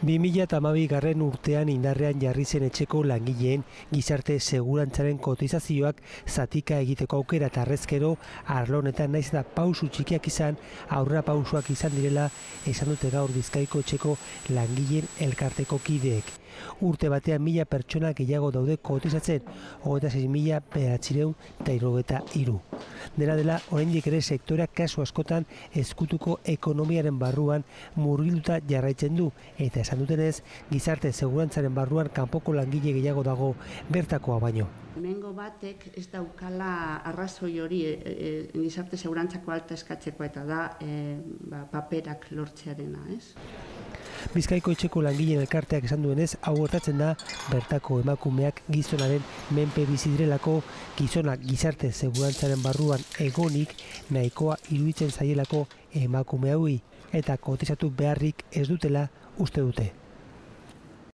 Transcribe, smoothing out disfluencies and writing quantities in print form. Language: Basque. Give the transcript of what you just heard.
2012 urtean indarrean jarri zen etxeko langileen gizarte segurantzaren kotizazioak zatika egiteko aukera eta harrezkero arlo honetan naiz eta pausu txikiak izan, aurrera pausuak izan direla esan dute gaur Bizkaiko etxeko langileen elkarteko kideek. Urte batean 1000 pertsona gehiago daude kotizatzen, 26.993. Dena dela, oraindik ere sektoreak kasu askotan ezkutuko ekonomiaren barruan murgilduta jarraitzen du, eta esan dutenez, gizarte segurantzaren barruan kanpoko langile gehiago dago bertakoa baino. Hemengo batek ez daukala arrazoi hori gizarte segurantzako alta eskatzeko eta da paperak lortzearena, ez? Bizkaiko etxeko langileen elkarteak esan duenez, hau gertatzen da bertako emakumeak gizonaren menpe bizi direlako, gizonak gizarte segurantzaren barruan egonik nahikoa iruditzen zaielako emakume hauei eta kotizatu beharrik ez dutela uste dute.